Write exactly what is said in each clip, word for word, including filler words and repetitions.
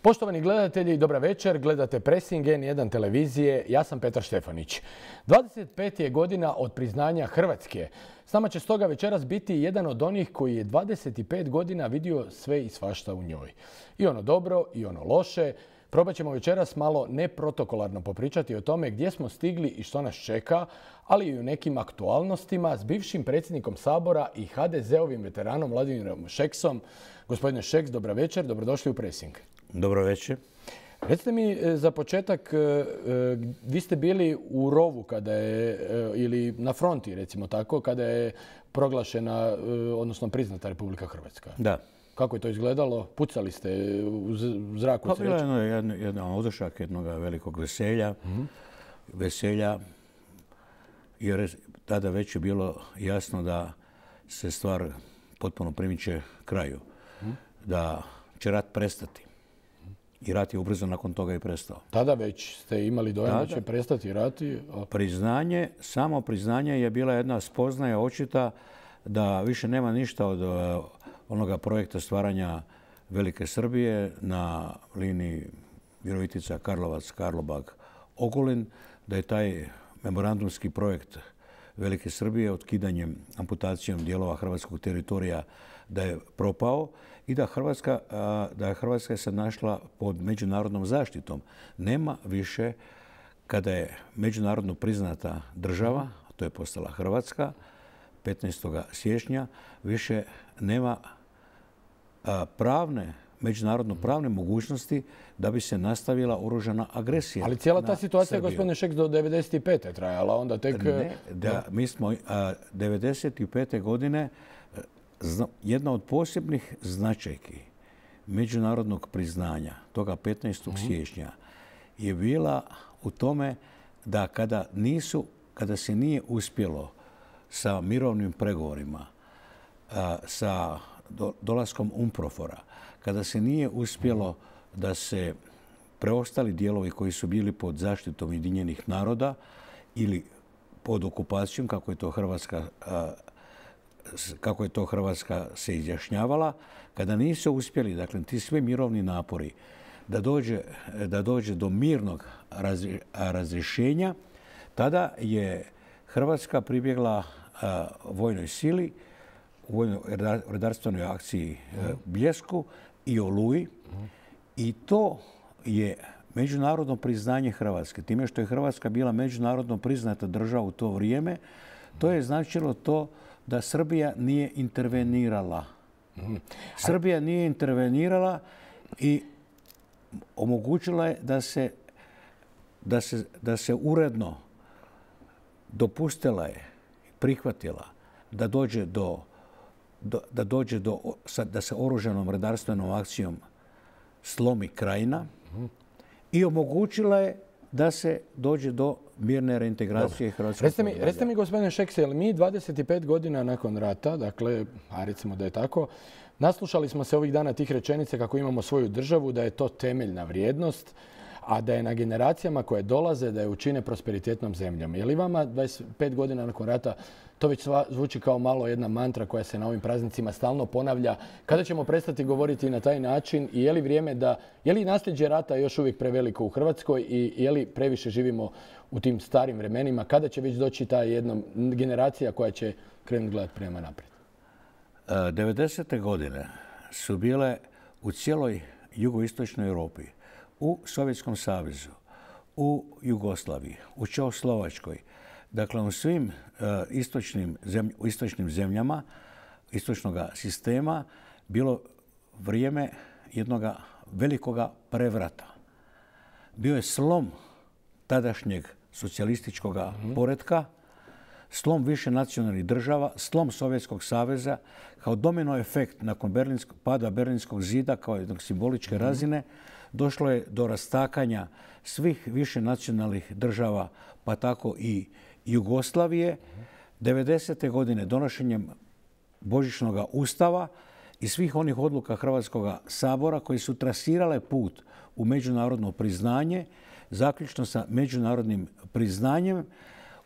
Poštovani gledatelji, dobra večer. Gledate Pressing N jedan televizije. Ja sam Petar Štefanić. dvadeset pet je godina od priznanja Hrvatske. S nama će stoga večeras biti jedan od onih koji je dvadeset pet godina vidio sve i svašta u njoj. I ono dobro i ono loše. Probat ćemo večeras malo neprotokolarno popričati o tome gdje smo stigli i što nas čeka, ali i o nekim aktualnostima s bivšim predsjednikom Sabora i ha de ze-ovim veteranom Vladimirom Šeksom. Gospodine Šeks, dobra večer, dobrodošli u Pressing. Dobro večer. Recite mi za početak, vi ste bili u rovu kada je, ili na fronti recimo tako, kada je proglašena, odnosno priznata Republika Hrvatska. Da. Kako je to izgledalo? Pucali ste u zraku? Pa bilo je jedan, jedan odušak jednog velikog veselja. Mm-hmm. Veselja, jer tada već je bilo jasno da se stvar potpuno primiče kraju. Mm-hmm. Da će rat prestati. I rat je ubrzo nakon toga i prestao. Tada već ste imali dojam da će prestati rati? A... Priznanje, samo priznanje je bila jedna spoznaja očita da više nema ništa od onoga projekta stvaranja Velike Srbije na liniji Virovitica, Karlovac, Karlobag, Ogulin, da je taj memorandumski projekt Velike Srbije otkidanjem, amputacijom dijelova hrvatskog teritorija da je propao i da Hrvatska, da je Hrvatska se našla pod međunarodnom zaštitom. Nema više, kada je međunarodno priznata država, to je postala Hrvatska, petnaestog siječnja, više nema pravne, međunarodno pravne mogućnosti da bi se nastavila oružana agresija. Ali cijela ta situacija, gospodine Šeks, do devedeset pete trajala, onda tek... Ne, da, mi smo devedeset pete godine, jedna od posebnih značajki međunarodnog priznanja, toga petnaestog siječnja, je bila u tome da kada nisu, kada se nije uspjelo sa mirovnim pregovorima, sa dolaskom UNPROFOR-a, kada se nije uspjelo da se preostali dijelovi koji su bili pod zaštitom Ujedinjenih naroda ili pod okupacijom, kako je to Hrvatska, kako je to Hrvatska se izjašnjavala, kada nisu uspjeli, dakle, ti svi mirovni napori da dođe, da dođe do mirnog razrješenja, tada je Hrvatska pribjegla vojnoj sili, u vojnoj redarstvenoj akciji Bljesku i Oluji, i to je međunarodno priznanje Hrvatske. Time što je Hrvatska bila međunarodno priznata država u to vrijeme, to je značilo to da Srbija nije intervenirala. Srbija nije intervenirala i omogućila je da se, da se, da se uredno dopustila je, prihvatila da dođe do, do, da dođe do, da se oružanom redarstvenom akcijom slomi Krajina i omogućila je da se dođe do mirne reintegracije Hrvatskog. Recite mi, recite mi, gospodine Šeks, jel mi dvadeset pet godina nakon rata, dakle, a recimo da je tako, naslušali smo se ovih dana tih rečenice kako imamo svoju državu, da je to temeljna vrijednost, a da je na generacijama koje dolaze da je učine prosperitetnom zemljom. Je li vama dvadeset pet godina nakon rata to već zvuči kao malo jedna mantra koja se na ovim praznicima stalno ponavlja? Kada ćemo prestati govoriti na taj način i je li vrijeme da, je li nasljeđe rata još uvijek preveliko u Hrvatskoj i je li previše živimo u tim starim vremenima? Kada će već doći ta jedna generacija koja će krenuti gledati prema naprijed? devedesete godine su bile u cijeloj jugoistočnoj Europi, u Sovjetskom savezu, u Jugoslaviji, u Čehoslovačkoj, dakle u svim uh, istočnim, zemlj, u istočnim zemljama istočnog sistema bilo vrijeme jednog velikoga prevrata. Bio je slom tadašnjeg socijalističkog mm-hmm. poretka, slom više nacionalnih država, slom Sovjetskog saveza, kao domino efekt nakon Berlinskog, pada Berlinskog zida kao jednog simboličke mm-hmm. razine, došlo je do rastakanja svih više nacionalnih država, pa tako i Jugoslavije. devedesete godine donošenjem Božićnog ustava i svih onih odluka Hrvatskog sabora koji su trasirale put u međunarodno priznanje, zaključno sa međunarodnim priznanjem,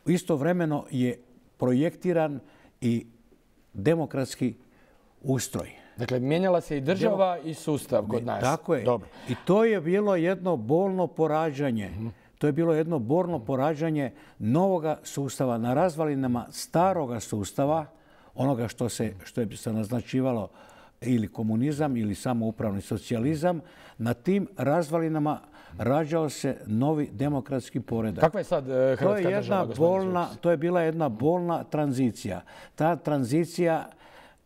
istovremeno je projektiran i demokratski ustroj. Dakle, mijenjala se i država i sustav kod nas. Tako je. Dobro. I to je bilo jedno bolno porađanje. To je bilo jedno bolno porađanje novoga sustava na razvalinama staroga sustava, onoga što se, što je se naznačivalo ili komunizam ili samoupravni socijalizam. Na tim razvalinama rađao se novi demokratski poredak. Kakva je sad eh, To je Hrvatska jedna država, gospodine bolna, Šeks? to je bila jedna bolna tranzicija. Ta tranzicija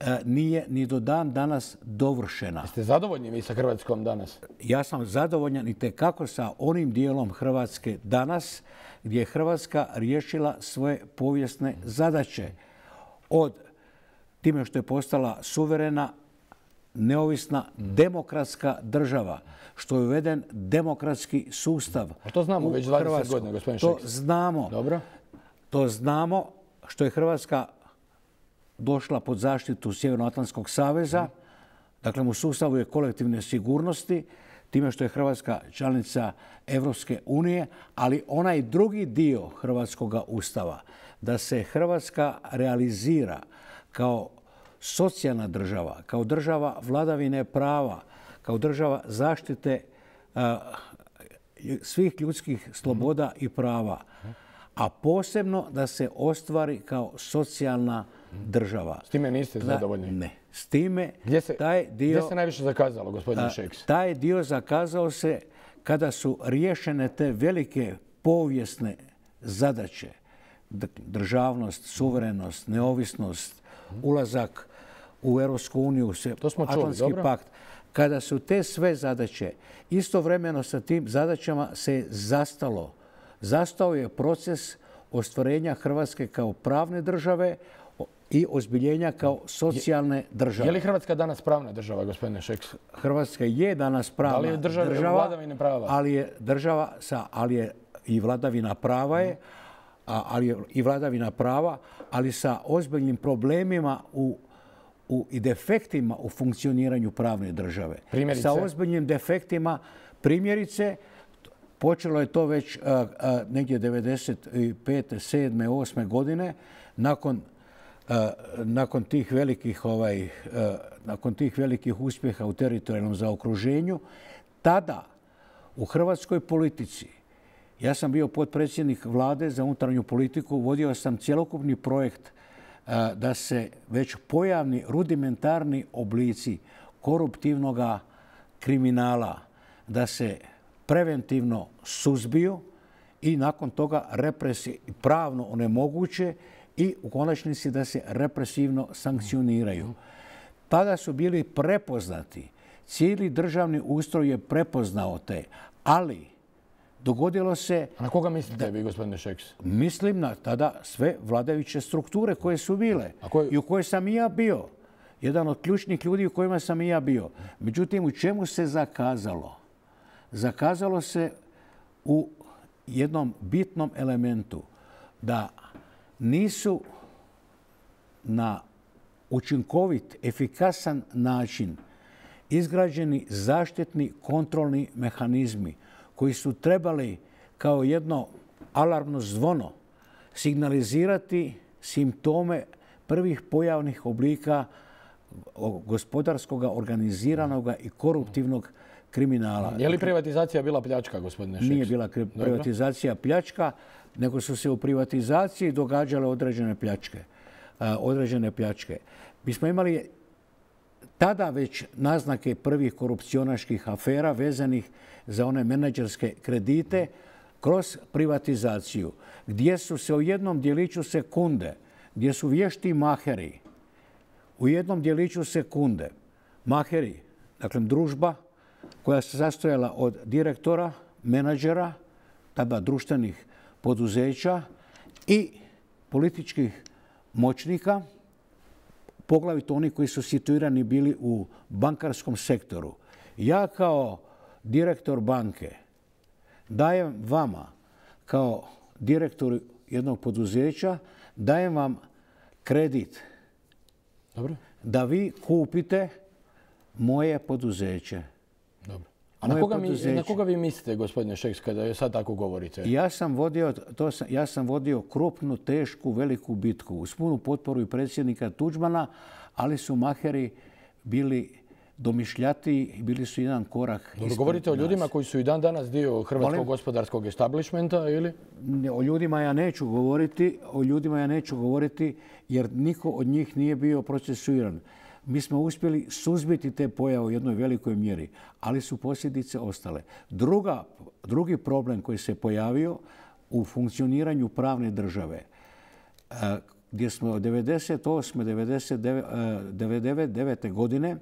e, nije ni do dan danas dovršena. Ste zadovoljni vi sa Hrvatskom danas? Ja sam zadovoljan i tekako sa onim dijelom Hrvatske danas gdje je Hrvatska riješila svoje povijesne zadaće. Od time što je postala suverena, neovisna, demokratska država, što je uveden demokratski sustav. A to znamo u već dvadeset Hrvatskoj. godina, gospodine To Šeks. znamo. Dobro. To znamo što je Hrvatska došla pod zaštitu Sjevernoatlantskog saveza, dakle u sustavu je kolektivne sigurnosti, time što je Hrvatska članica Evropske unije, ali onaj drugi dio Hrvatskog ustava, da se Hrvatska realizira kao socijalna država, kao država vladavine prava, kao država zaštite a, svih ljudskih sloboda i prava, a posebno da se ostvari kao socijalna država. S time niste Da, zadovoljni? ne. S time Gdje se, taj dio, gdje se najviše zakazalo, gospodine a, Šeks? taj dio zakazao se kada su riješene te velike povijesne zadaće. D- Državnost, suverenost, neovisnost, ulazak u Europsku uniju, To smo čuli, Atlantski dobro. pakt. Kada su te sve zadaće, istovremeno sa tim zadaćama se je zastalo. Zastao je proces ostvarenja Hrvatske kao pravne države i ozbiljenja kao socijalne države. Je li Hrvatska danas pravna država, gospodine Šeks? Hrvatska je danas pravna Da li je država- država, vladavine prava? ali je država sa, ali je i vladavina prava je, a, ali je i vladavina prava, ali sa ozbiljnim problemima u, u, i defektima u funkcioniranju pravne države. Primjerice? Sa ozbiljnim defektima, primjerice, počelo je to već a, a, negdje devedeset pete, sedme, osme godine, nakon Uh, nakon tih velikih ovaj, uh, nakon tih velikih uspjeha u teritorijalnom zaokruženju, tada u hrvatskoj politici, ja sam bio potpredsjednik Vlade za unutarnju politiku, vodio sam cjelokupni projekt uh, da se već pojavni rudimentarni oblici koruptivnog kriminala, da se preventivno suzbiju i nakon toga represiji pravno onemoguće i u konačnici da se represivno sankcioniraju. Tada su bili prepoznati, cijeli državni ustroj je prepoznao te, ali dogodilo se, A na koga mislite vi, gospodine Šeks? mislim na tada sve vladajuće strukture koje su bile A koje- i u kojoj sam i ja bio. Jedan od ključnih ljudi u kojima sam i ja bio. Međutim, u čemu se zakazalo? Zakazalo se u jednom bitnom elementu da nisu na učinkovit, efikasan način izgrađeni zaštitni kontrolni mehanizmi koji su trebali kao jedno alarmno zvono signalizirati simptome prvih pojavnih oblika gospodarskog, organiziranog i koruptivnog kriminala. Je li privatizacija bila pljačka, gospodine Šeks? Nije bila kri- privatizacija pljačka, nego su se u privatizaciji događale određene pljačke. a, određene pljačke. Mi smo imali tada već naznake prvih korupcionaških afera vezanih za one menadžerske kredite kroz privatizaciju, gdje su se u jednom djeliću sekunde, gdje su vješti maheri, u jednom djeliću sekunde, maheri, dakle družba koja se sastojala od direktora, menadžera, tada društvenih poduzeća i političkih moćnika, poglavito oni koji su situirani bili u bankarskom sektoru. Ja kao direktor banke dajem vama kao direktor jednog poduzeća, dajem vam kredit Dobro. da vi kupite moje poduzeće. Dobro. A na Moje koga, mi, poduzeće. na koga vi mislite, gospodine Šeks, kada je sad tako govorite? Ja sam vodio, to sam, ja sam vodio krupnu, tešku, veliku bitku uz punu potporu i predsjednika Tuđmana, ali su maheri bili domišljatiji i bili su jedan korak ispred nas. Govorite o ljudima koji su i dan danas dio hrvatskog gospodarskog establishmenta ili? O ljudima ja neću govoriti, o ljudima ja neću govoriti jer niko od njih nije bio procesuiran. Mi smo uspjeli suzbiti te pojave u jednoj velikoj mjeri, ali su posljedice ostale. Druga, drugi problem koji se pojavio u funkcioniranju pravne države, gdje smo od devedeset osme. devedeset devete. godine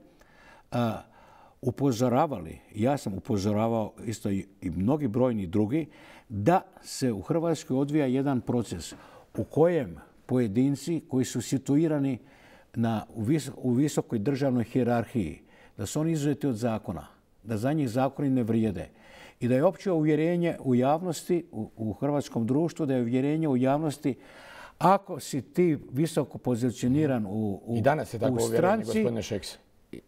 upozoravali, ja sam upozoravao isto i mnogi brojni drugi, da se u Hrvatskoj odvija jedan proces u kojem pojedinci koji su situirani na, u visokoj državnoj hijerarhiji, da su oni izuzeti od zakona, da za njih zakoni ne vrijede i da je opće uvjerenje u javnosti, u, u hrvatskom društvu, da je uvjerenje u javnosti ako si ti visoko pozicioniran u, u, I danas je tako u uvjerenje, gospodine Šeks.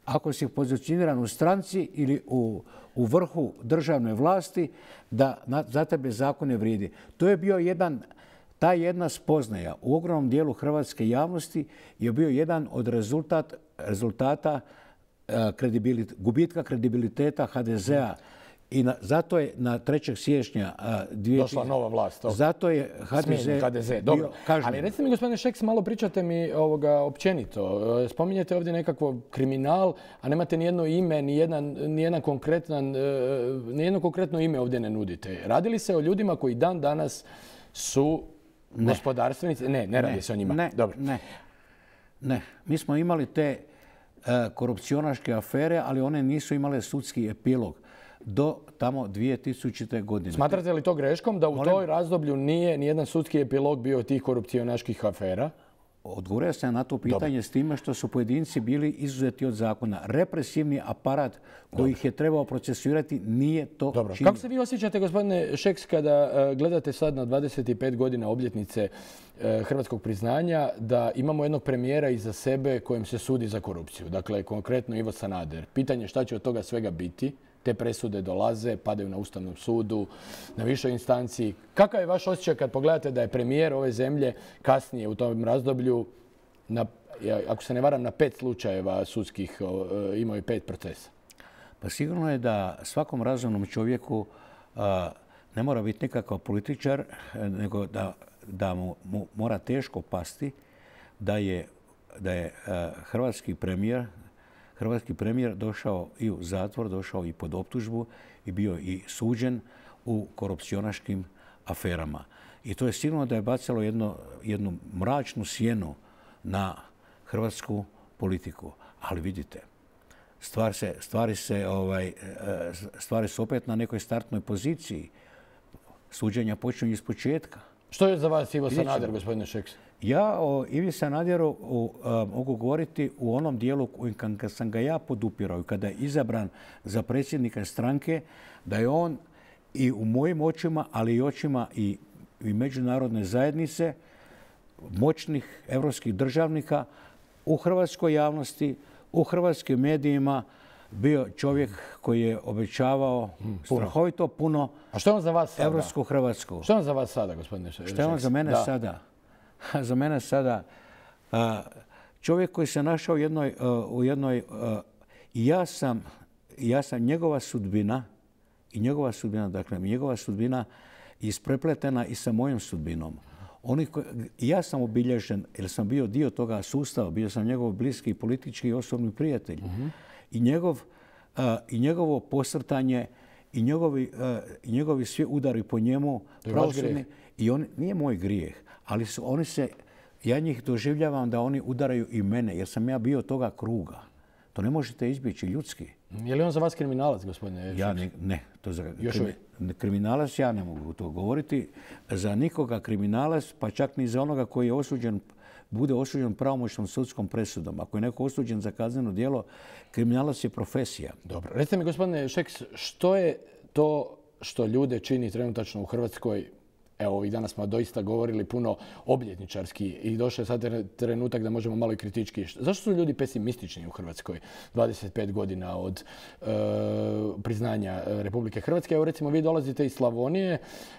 Ako si pozicioniran u stranci ili u, u vrhu državne vlasti, da na, za tebe zakon ne vrijedi. To je bio jedan, ta jedna spoznaja u ogromnom dijelu hrvatske javnosti je bio jedan od rezultat, rezultata uh, kredibilit, gubitka kredibiliteta ha de zea. I na, zato je na trećeg siječnja uh, dvije, došla nova vlast. To. Zato je ha de ze, ha de ze. Dobro. Ali recite mi, gospodine Šeks, malo pričate mi ovoga općenito. Spominjete ovdje nekakvo kriminal, a nemate nijedno ime, nijedan, nijedan konkretan, nijedno konkretno ime ovdje ne nudite. Radi li se o ljudima koji dan danas su ne. gospodarstvenici? Ne, ne radi ne, se o njima. Ne, Dobro. ne, ne. Mi smo imali te uh, korupcionaške afere, ali one nisu imale sudski epilog do tamo dvije tisućite. godine. Smatrate li to greškom da u Molim? toj razdoblju nije nijedan sudski epilog bio tih korupcionaških afera? Odgovorio sam na to pitanje Dobre. s time što su pojedinci bili izuzeti od zakona. Represivni aparat koji Dobre. ih je trebao procesuirati nije to Dobro. činio. Kako se vi osjećate, gospodine Šeks, kada uh, gledate sad na dvadeset pet godina obljetnice uh, hrvatskog priznanja da imamo jednog premijera iza sebe kojem se sudi za korupciju? Dakle, konkretno Ivo Sanader. Pitanje šta će od toga svega biti? Te presude dolaze, padaju na Ustavnom sudu, na višoj instanciji. Kakav je vaš osjećaj kad pogledate da je premijer ove zemlje kasnije u tom razdoblju, na, ako se ne varam, na pet slučajeva sudskih imao i pet procesa? Pa sigurno je da svakom razumnom čovjeku a, ne mora biti nikakav političar, nego da, da mu, mu mora teško pasti da je, da je a, hrvatski premijer Hrvatski premijer došao i u zatvor, došao i pod optužbu i bio i suđen u korupcionaškim aferama. I to je sigurno da je bacalo jedno, jednu mračnu sjenu na hrvatsku politiku. Ali vidite, stvar se, stvari, se, ovaj, stvari su opet na nekoj startnoj poziciji. Suđenja počinju iz početka. Što je za vas Ivo Sanader, gospodine Šeks? Ja o Ivi Sanaderu uh, mogu govoriti u onom dijelu kad sam ga ja podupirao i kada je izabran za predsjednika stranke, da je on i u mojim očima, ali i očima i, i međunarodne zajednice, moćnih evropskih državnika u hrvatskoj javnosti, u hrvatskim medijima, bio čovjek koji je obećavao hmm, strahovito puno. A što je on za vas sada? Evropsku Hrvatsku. Što je on za vas sada, gospodine Šeks? Što je on za mene da. sada? Za mene sada čovjek koji se našao u jednoj, u jednoj ja sam, ja sam njegova sudbina i njegova sudbina, dakle njegova sudbina isprepletena i sa mojom sudbinom. Oni koji, ja sam obilježen jer sam bio dio toga sustava, bio sam njegov bliski politički i osobni prijatelj. Uh-huh. I, njegov, i njegovo posrtanje i njegovi, i njegovi svi udari po njemu pravosudni. I on, nije moj grijeh, ali su, oni se, ja njih doživljavam da oni udaraju i mene, jer sam ja bio toga kruga. To ne možete izbjeći ljudski. Je li on za vas kriminalac, gospodine? Ja ne, ne. To za, krimi, kriminalac ja ne mogu to govoriti. Za nikoga kriminalac, pa čak ni za onoga koji je osuđen, bude osuđen pravomoćnom sudskom presudom. Ako je neko osuđen za kazneno djelo, kriminalac je profesija. Dobro. Recite mi, gospodine Šeks, što je to što ljude čini trenutačno u Hrvatskoj Evo, ovih dana smo doista govorili puno obljetničarski i došao je sad trenutak da možemo malo i kritički. Zašto su ljudi pesimistični u Hrvatskoj dvadeset pet godina od e, priznanja Republike Hrvatske? Evo, recimo, vi dolazite iz Slavonije,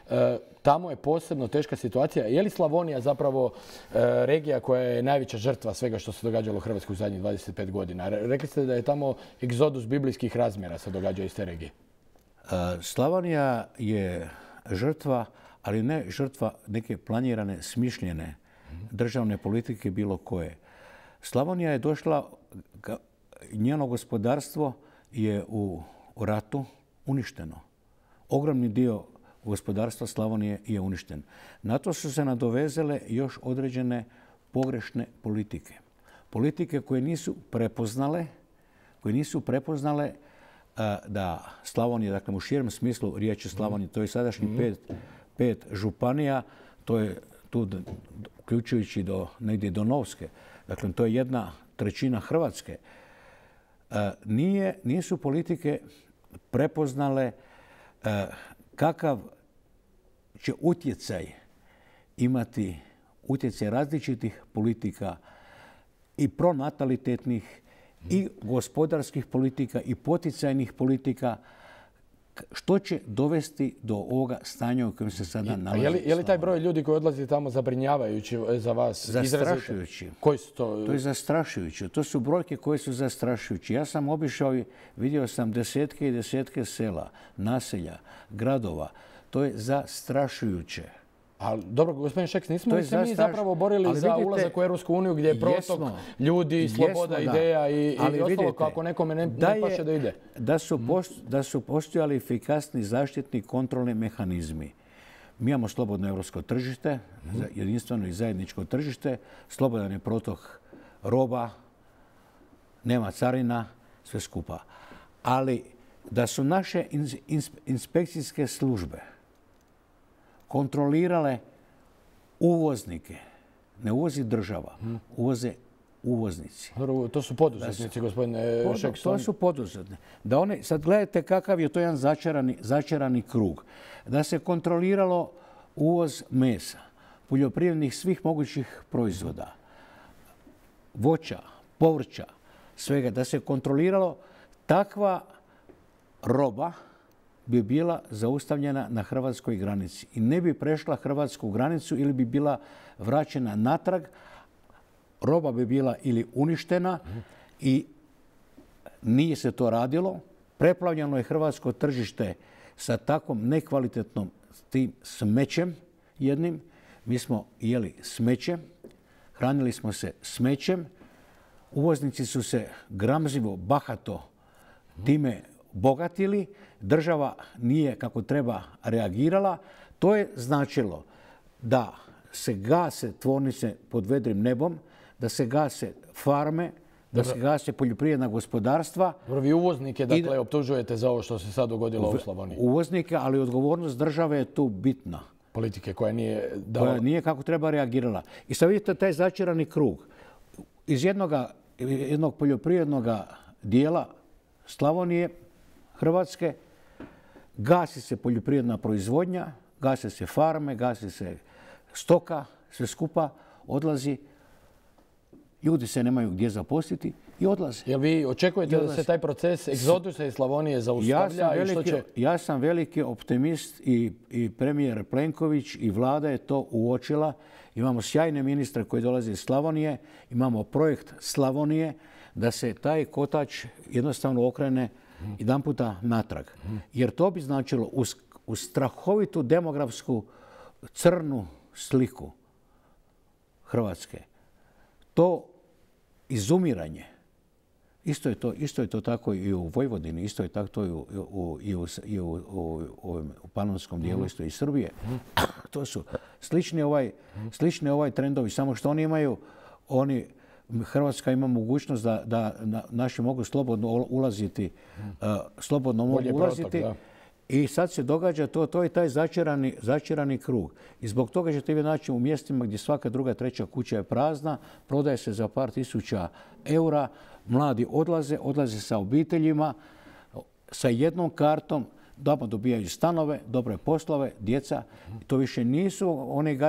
e, tamo je posebno teška situacija. Je li Slavonija zapravo e, regija koja je najveća žrtva svega što se događalo u Hrvatskoj u zadnjih dvadeset pet godina? Rekli ste da je tamo egzodus biblijskih razmjera se događa iz te regije. Slavonija je žrtva, ali ne žrtva neke planirane, smišljene državne politike bilo koje. Slavonija je došla, njeno gospodarstvo je u ratu uništeno. Ogromni dio gospodarstva Slavonije je uništen. Na to su se nadovezale još određene pogrešne politike. Politike koje nisu prepoznale, koje nisu prepoznale da Slavonija, dakle u širem smislu riječi Slavonije, to je sadašnji pet, pet županija, to je tu uključujući do, negdje do Novske, dakle to je jedna trećina Hrvatske. Nije, nisu politike prepoznale kakav će utjecaj imati utjecaj različitih politika i pronatalitetnih i gospodarskih politika i poticajnih politika, što će dovesti do ovoga stanja u kojem se sada nalazi. Je li, je li taj broj ljudi koji odlazi tamo zabrinjavajući za vas? Zastrašujući. Koji su to? To je zastrašujuće. To su brojke koje su zastrašujući. Ja sam obišao i vidio sam desetke i desetke sela, naselja, gradova. To je zastrašujuće. Ali dobro, gospodin Šeks, nismo li se mi zapravo borili za ulazak u Europsku uniju gdje je protok ljudi, sloboda ideja i ostalo kako nekome ne paše da ide? Da su postojali efikasni zaštitni kontrolni mehanizmi. Mi imamo slobodno europsko tržište, jedinstveno i zajedničko tržište, slobodan je protok roba, nema carina, sve skupa. Ali da su naše inspekcijske službe kontrolirale uvoznike. Ne uvozi država, uvoze uvoznici. To su poduzetnici, gospodine Šeks. To su poduzetni. Da one, sad gledajte kakav je to jedan začarani, začarani krug. Da se kontroliralo uvoz mesa, poljoprivrednih svih mogućih proizvoda, voća, povrća, svega. Da se kontroliralo, takva roba bi bila zaustavljena na hrvatskoj granici i ne bi prešla hrvatsku granicu ili bi bila vraćena natrag. Roba bi bila ili uništena i nije se to radilo. Preplavljeno je hrvatsko tržište sa takvom nekvalitetnom tim smećem jednim. Mi smo jeli smeće, hranili smo se smećem. Uvoznici su se gramzivo, bahato time bogatili, država nije kako treba reagirala. To je značilo da se gase tvornice pod vedrim nebom, da se gase farme, da se gase poljoprivredna gospodarstva. Dobro, vi uvoznike dakle optužujete za ovo što se sad dogodilo u Slavoniji. Uvoznike, ali odgovornost države je tu bitna. Politike koja nije dala... Koja nije kako treba reagirala. I sad vidite taj začarani krug. Iz jednoga, jednog poljoprivrednog dijela Slavonije, Hrvatske, gasi se poljoprivredna proizvodnja, gase se farme, gasi se stoka, sve skupa odlazi. Ljudi se nemaju gdje zaposliti i odlaze. Jel vi očekujete da se taj proces egzodusa iz Slavonije zaustavlja? Ja sam veliki, će... ja sam veliki optimist i, i premijer Plenković i vlada je to uočila. Imamo sjajne ministre koji dolaze iz Slavonije, imamo projekt Slavonije da se taj kotač jednostavno okrene jedan puta natrag. Jer to bi značilo uz, uz strahovitu demografsku crnu sliku Hrvatske. To izumiranje, isto je to, isto je to tako i u Vojvodini, isto je tako i u, u, i u, i u, u, u, u panonskom dijelu, isto i Srbije. To su slični ovaj, slični ovaj trendovi, samo što oni imaju, oni, Hrvatska ima mogućnost da, da naši mogu slobodno ulaziti, uh, slobodno mogu ulaziti. Protok, i sad se događa to, to je taj začarani, začarani krug. I zbog toga ćete vi naći u mjestima gdje svaka druga, treća kuća je prazna, prodaje se za par tisuća eura, mladi odlaze, odlaze sa obiteljima, sa jednom kartom, dobro dobijaju stanove, dobre poslove, djeca. To više nisu oni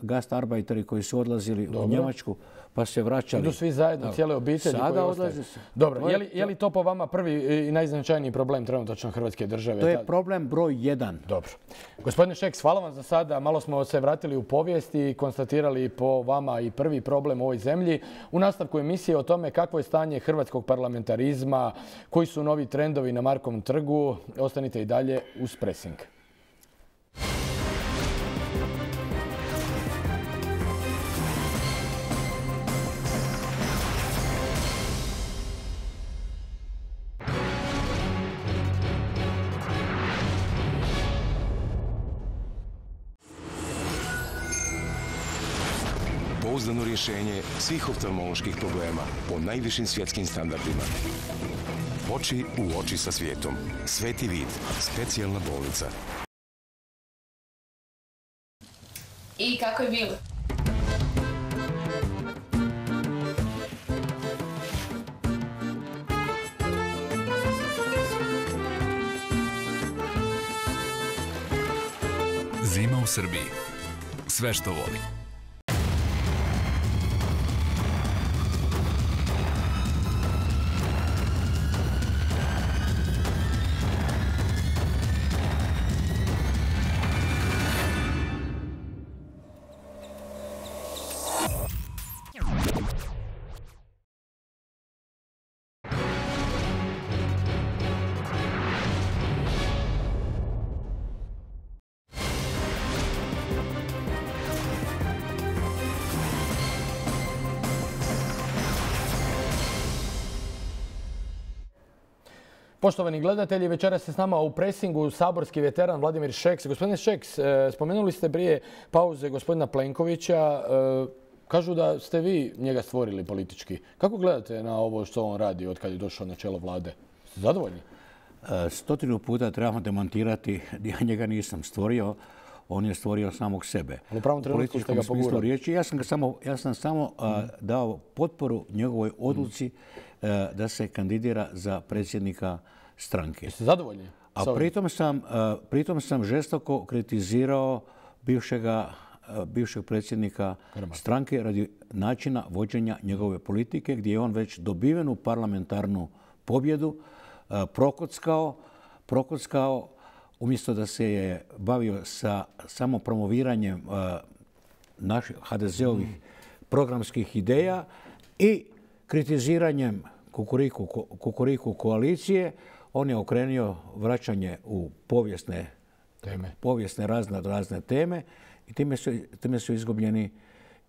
gastarbeiteri koji su odlazili u Njemačku pa se vraćali. Idu svi zajedno, cijele obitelji koje ostaju. Dobro, je li, je li to po vama prvi i najznačajniji problem trenutačno Hrvatske države? To je problem broj jedan. Dobro. Gospodine Šeks, hvala vam za sada. Malo smo se vratili u povijest i konstatirali po vama i prvi problem u ovoj zemlji. U nastavku emisije o tome kakvo je stanje hrvatskog parlamentarizma, koji su novi trendovi na Markovom trgu. Ostanite i dalje uz Pressing. Pouzdano rješenje svih oftalmoloških problema po najvišim svjetskim standardima. Oči u oči sa svijetom. Sveti vid. Specijalna bolnica. I kako je bilo? Zima u Srbiji. Sve što voli. Poštovani gledatelji, večeras se s nama u Pressingu saborski veteran Vladimir Šeks. Gospodine Šeks, spomenuli ste prije pauze gospodina Plenkovića. Kažu da ste vi njega stvorili politički. Kako gledate na ovo što on radi od kad je došao na čelo vlade? Ste zadovoljni? Stotinu puta trebamo demantirati. Ja njega nisam stvorio. On je stvorio samog sebe. U pravom trenutku ste ga pogurali. Riječi. Ja sam, samo, ja sam samo a, dao potporu njegovoj odluci a, da se kandidira za predsjednika stranke. Jeste zadovoljni? A pritom sam, a, pritom sam žestoko kritizirao bivšega, a, bivšeg predsjednika Karamarka. Stranke radi načina vođenja njegove politike gdje je on već dobivenu parlamentarnu pobjedu a, prokockao, prokockao umjesto da se je bavio sa samo promoviranjem uh, naših ha de zeovih programskih ideja i kritiziranjem kukuriku, kukuriku koalicije, on je okrenio vraćanje u povijesne teme, povijesne razne, razne teme i time su, time su izgubljeni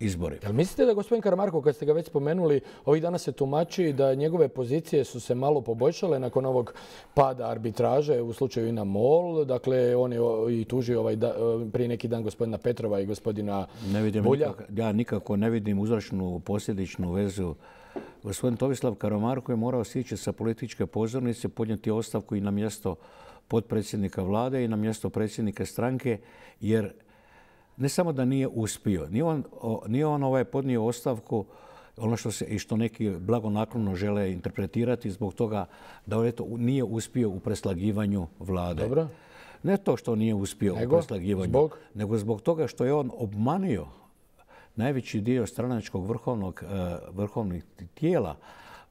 izbori. Jel mislite da gospodin Karamarko, kad ste ga već spomenuli, ovih dana se tumači da njegove pozicije su se malo poboljšale nakon ovog pada arbitraže u slučaju INA MOL? Dakle, on je i tužio ovaj da, prije neki dan gospodina Petrova i gospodina ne vidim Bulja. Nikako, ja nikako ne vidim uzročnu posljedičnu vezu. Gospodin Tomislav Karamarko je morao sići sa političke pozornice, podnijeti ostavku i na mjesto potpredsjednika vlade i na mjesto predsjednika stranke, jer ne samo da nije uspio, nije on, nije on ovaj podnio ostavku, ono što se i što neki blagonaklono žele interpretirati zbog toga da on eto nije uspio u preslagivanju vlade. Dobro. Ne to što nije uspio nego, u preslagivanju, zbog? nego zbog toga što je on obmanio najveći dio stranačkog vrhovnog, vrhovnih tijela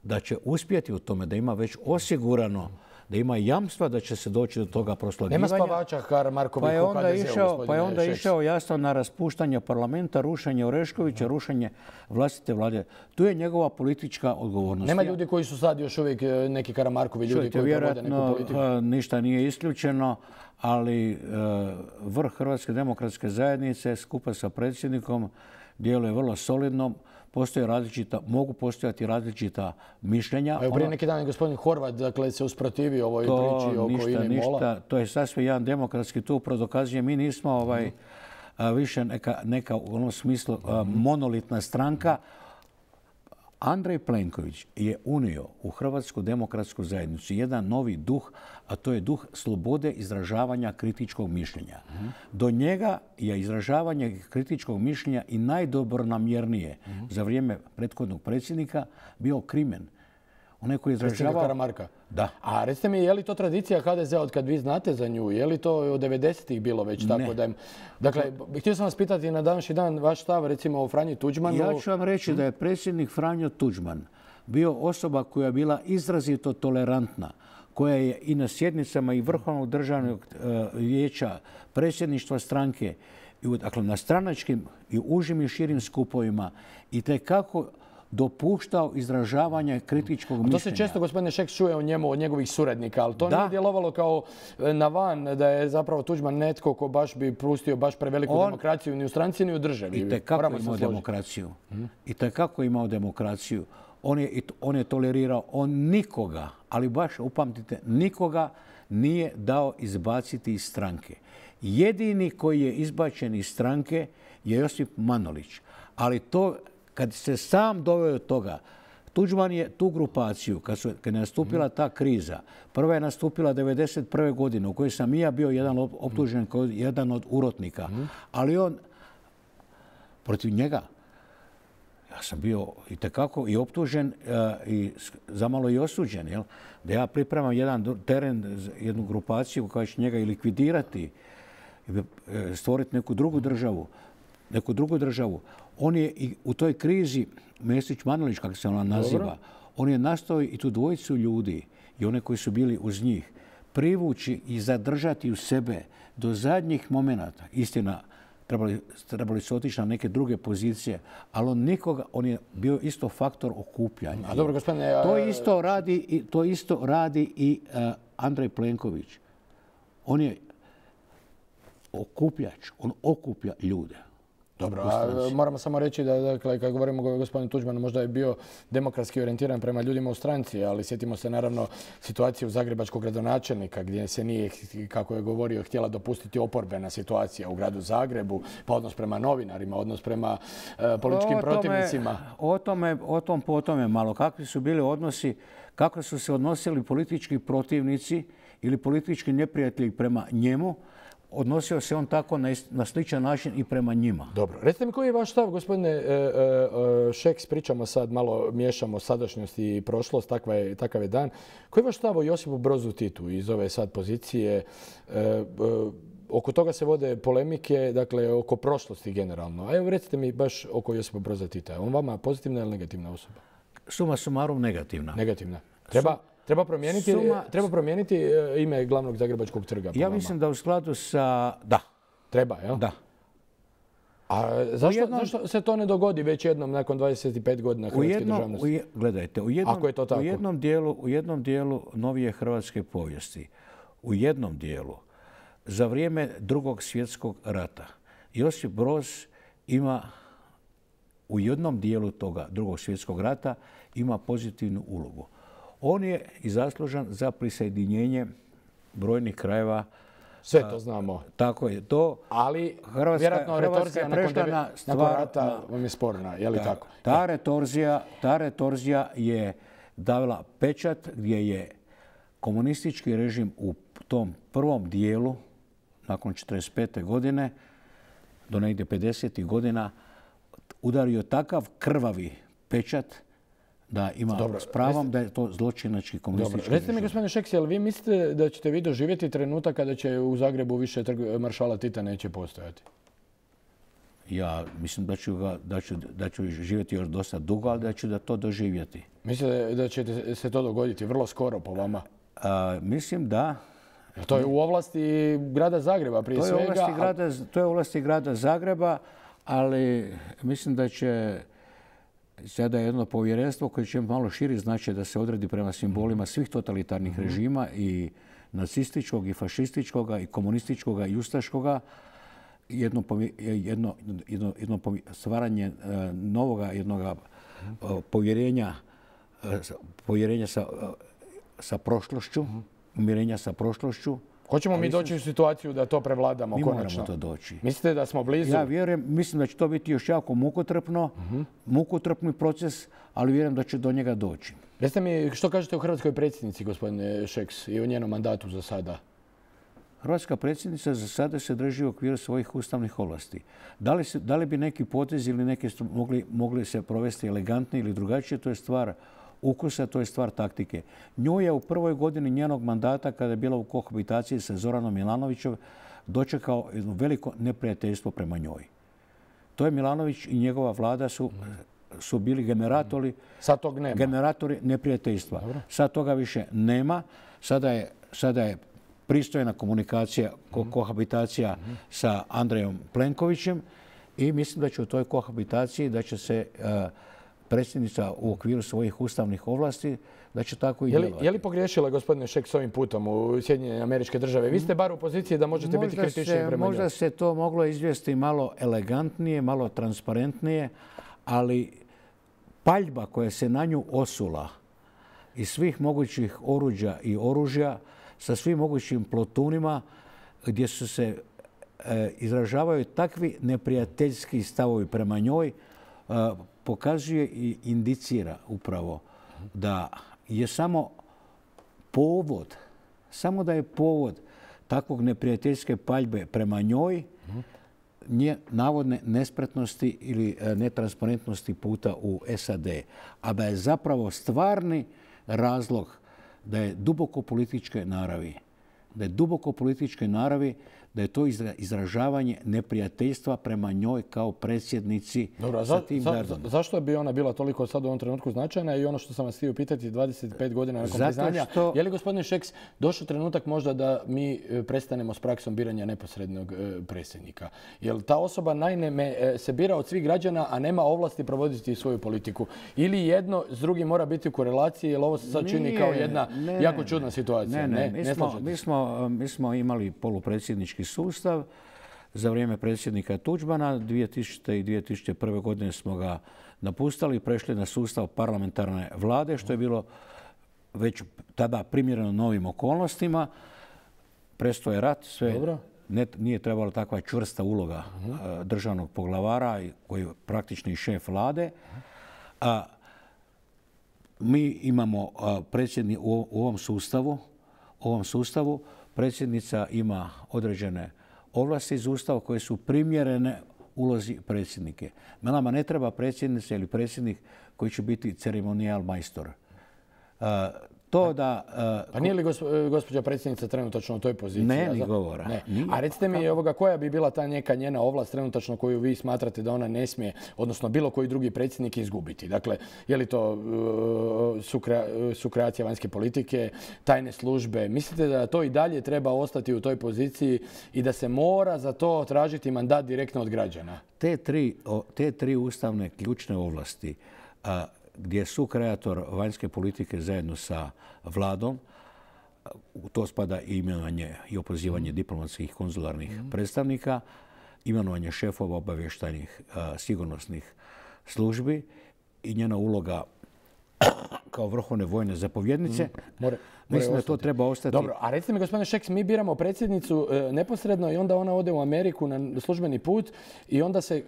da će uspjeti u tome, da ima već osigurano, da ima jamstva da će se doći do toga proslagivanja. Nema spavača Karamarkovih pa je u onda ha de zeu, išao, Pa je onda Šeks. išao jasno na raspuštanje parlamenta, rušenje Oreškovića, rušenje vlastite vlade. Tu je njegova politička odgovornost. Nema ljudi koji su sad još uvijek neki Karamarkovi ljudi Čujte, koji provode neku politiku? Ništa nije isključeno, ali uh, vrh Hrvatske demokratske zajednice skupa sa predsjednikom djeluje vrlo solidno. Postoje različita, mogu postojati različita mišljenja. Evo prije neki dan je gospodin Horvat dakle, se usprotivio ovoj priči oko INA i MOL-a. To je sasvim jedan demokratski tu dokazuje. Mi nismo ovaj, a, više neka, neka u onom smislu a, monolitna stranka. Andrej Plenković je unio u Hrvatsku demokratsku zajednicu jedan novi duh, a to je duh slobode izražavanja kritičkog mišljenja. Mm-hmm. Do njega je izražavanje kritičkog mišljenja i najdobronamjernije mm-hmm. za vrijeme prethodnog predsjednika bio krimen. Onaj koji je Predsjednika izražavao... Karamarka. Da. A recite mi, je li to tradicija ha de zea od kad vi znate za nju? Je li to od devedesetih bilo već tako da je... Dakle, htio sam vas pitati na današnji dan vaš stav recimo o Franji Tuđmanu. Ja ću vam reći da je predsjednik Franjo Tuđman bio osoba koja je bila izrazito tolerantna, koja je i na sjednicama i Vrhovnog državnog vijeća, predsjedništva stranke, dakle na stranačkim i užim i širim skupovima i tekako dopuštao izražavanje kritičkog mišljenja. To se često, gospodine Šeks, čuje o njemu, od njegovih suradnika, ali to nije djelovalo kao na van, da je zapravo Tuđman netko ko baš bi pustio baš preveliku demokraciju ni u stranci ni u državi. I tekako imao demokraciju. I tekako imao demokraciju. On je, on je tolerirao, on nikoga, ali baš upamtite, nikoga nije dao izbaciti iz stranke. Jedini koji je izbačen iz stranke je Josip Manolić. Ali to, kad se sam doveo od toga, Tuđman je tu grupaciju, kad, su, kad je nastupila ta kriza, prva je nastupila devedeset prve godine, u kojoj sam i ja bio jedan optužen kao jedan od urotnika, ali on, protiv njega, ja sam bio itekako i optužen i zamalo i osuđen, jel? Da ja pripremam jedan teren, jednu grupaciju koja će njega i likvidirati, stvoriti neku drugu državu, neku drugu državu. On je i u toj krizi, Mesić Manolić, kako se ona naziva, dobro, on je nastao i tu dvojicu ljudi i one koji su bili uz njih privući i zadržati u sebe do zadnjih momenata. Istina, trebali, trebali su otići na neke druge pozicije, ali on nikoga, on je bio isto faktor okupljanja. A dobro, gospodine, a... To isto radi i, to isto radi i uh, Andrej Plenković. On je okupljač, on okuplja ljude. Dobro, a moramo samo reći da, dakle, kad govorimo o gospodinu Tuđmanu, možda je bio demokratski orijentiran prema ljudima u stranci, ali sjetimo se naravno situacije u zagrebačkog gradonačelnika, gdje se nije, kako je govorio, htjela dopustiti oporbena situacija u gradu Zagrebu, pa odnos prema novinarima, odnos prema uh, političkim o tome, protivnicima. O tome, o tom po tome malo. Kakvi su bili odnosi, kako su se odnosili politički protivnici ili politički neprijatelji prema njemu, odnosio se on tako na, na sličan način i prema njima. Dobro. Recite mi koji je vaš stav, gospodine e, e, Šeks, pričamo sad, malo miješamo sadašnjost i prošlost, takva je, takav je dan. Koji je vaš stav o Josipu Brozu Titu iz ove sad pozicije? E, e, oko toga se vode polemike, dakle, oko prošlosti generalno. A evo recite mi baš oko Josipa Broza Tita. On vama pozitivna ili negativna osoba? Suma sumarum negativna. Negativna. Treba... Treba promijeniti, Suma, treba promijeniti ime glavnog Zagrebačkog trga? Ja mislim da u skladu sa... Da. Treba, jel? Da. A zašto, jednom, zašto se to ne dogodi već jednom nakon dvadeset pet godina hrvatske jednom, državnosti? Je, gledajte, u jednom, Ako je to tako. U jednom, dijelu, u jednom dijelu novije hrvatske povijesti, u jednom dijelu, za vrijeme drugog svjetskog rata, Josip Broz ima u jednom dijelu toga drugog svjetskog rata ima pozitivnu ulogu. On je i zaslužan za prisjedinjenje brojnih krajeva. Sve to znamo. Tako je to. Ali Hrvatska, vjerojatno retorzija nakon, deve, stvar, nakon rata vam je sporna. Je li ta, tako? Ta retorzija, ta retorzija je davila pečat gdje je komunistički režim u tom prvom dijelu, nakon četrdeset pete godine, do negdje pedesetih godina, udario takav krvavi pečat da ima dobro, s pravom da je to zločinački komunistički režim. Recite mi, gospodine Šeks, jel vi mislite da ćete vi doživjeti trenutak kada će u Zagrebu više trg maršala Tita neće postojati? Ja mislim da ću, ga, da ću, da ću živjeti još dosta dugo, ali da ću da to doživjeti. Mislite da će se to dogoditi vrlo skoro po vama? A, mislim da... To je u ovlasti grada Zagreba prije to je svega. Ovlasti grada, to je u ovlasti grada Zagreba, ali mislim da će sada jedno povjerenstvo koje će malo širi značaj da se odredi prema simbolima svih totalitarnih mm-hmm. režima i nacističkog i fašističkog i komunističkog i ustaškoga, jedno, jedno, jedno, jedno stvaranje uh, novoga jednog uh, povjerenja, uh, povjerenja sa, uh, sa prošlošću, mm-hmm. umirenja sa prošlošću. Hoćemo mi doći u situaciju da to prevladamo mi konačno? Mi moramo to doći. Mislite da smo blizu? Ja vjerujem, mislim da će to biti još jako mukotrpno, uh-huh. mukotrpni proces, ali vjerujem da će do njega doći. Recite mi, što kažete o hrvatskoj predsjednici, gospodine Šeks, i o njenom mandatu za sada? Hrvatska predsjednica za sada se drži u okviru svojih ustavnih ovlasti. Da li, se, da li bi neki potez ili neke mogli, mogli se provesti elegantnije ili drugačije, to je stvar ukusa, to je stvar taktike. Nju je u prvoj godini njenog mandata, kada je bila u kohabitaciji sa Zoranom Milanovićem, dočekao jedno veliko neprijateljstvo prema njoj. To je Milanović i njegova vlada su, su bili generatori, Sad tog nema. generatori neprijateljstva. Dobro. Sad toga više nema. Sada je, sada je pristojna komunikacija, ko, kohabitacija mm-hmm. sa Andrejom Plenkovićem i mislim da će u toj kohabitaciji da će se uh, predsjednica u okviru svojih ustavnih ovlasti da će tako i je li, djelovati. Je li pogriješila gospodine Šeks ovim putom u Sjedinjene Američke Države? Vi ste bar u poziciji da možete možda biti kritični prema njoj. Možda se to moglo izvesti malo elegantnije, malo transparentnije, ali paljba koja se na nju osula iz svih mogućih oruđa i oružja sa svim mogućim plotunima gdje su se e, izražavaju takvi neprijateljski stavovi prema njoj, e, pokazuje i indicira upravo da je samo povod, samo da je povod takvog neprijateljske paljbe prema njoj, nje navodne nespretnosti ili netransparentnosti puta u S A D, a da je zapravo stvarni razlog da je duboko političke naravi, da je duboko političke naravi, da je to izražavanje neprijateljstva prema njoj kao predsjednici. Dobro, sa za, tim za, gardom. Zašto bi ona bila toliko sad u ovom trenutku značajna i ono što sam vas htio pitati dvadeset pet godina nakon Zato priznanja, što... je li gospodine Šeks došao trenutak možda da mi prestanemo s praksom biranja neposrednog predsjednika? Jer ta osoba naime se bira od svih građana, a nema ovlasti provoditi svoju politiku. Ili jedno s drugim mora biti u korelaciji, jer ovo se sad čini Nije, kao jedna ne, jako čudna situacija. Ne, ne, ne, mi, ne smo, mi, smo, mi smo imali polupredsjednički sustav. Za vrijeme predsjednika Tuđmana dvije tisućite. i dvije tisućite prve. godine smo ga napustili i prešli na sustav parlamentarne vlade, što je bilo već tada primjereno novim okolnostima. Prestao je rat, sve Dobro. Ne, nije trebala takva čvrsta uloga uh-huh. državnog poglavara koji je praktični šef vlade. A, mi imamo predsjedni, u, u ovom sustavu, ovom sustavu predsjednica ima određene ovlasti iz Ustava koje su primjerene ulozi predsjednike. Nama ne treba predsjednica ili predsjednik koji će biti ceremonijal majstor. Uh, to da... Uh, pa nije li gospođa predsjednica trenutačno u toj poziciji? Ne, ni govora. Ne. A recite mi ovoga, koja bi bila ta neka njena ovlast trenutačno koju vi smatrate da ona ne smije, odnosno bilo koji drugi predsjednik izgubiti? Dakle, je li to uh, sukrea, sukreacija vanjske politike, tajne službe? Mislite da to i dalje treba ostati u toj poziciji i da se mora za to tražiti mandat direktno od građana? Te tri, te tri ustavne ključne ovlasti, uh, gdje je sukreator vanjske politike zajedno sa vladom, u to spada i imenovanje i opozivanje mm. diplomatskih i konzularnih mm. predstavnika, imenovanje šefova obavještajnih sigurnosnih službi i njena uloga kao vrhovne vojne zapovjednice. Mm. More, Mislim da to treba ostati. Dobro, a recite mi, gospodine Šeks, mi biramo predsjednicu e, neposredno i onda ona ode u Ameriku na službeni put i onda se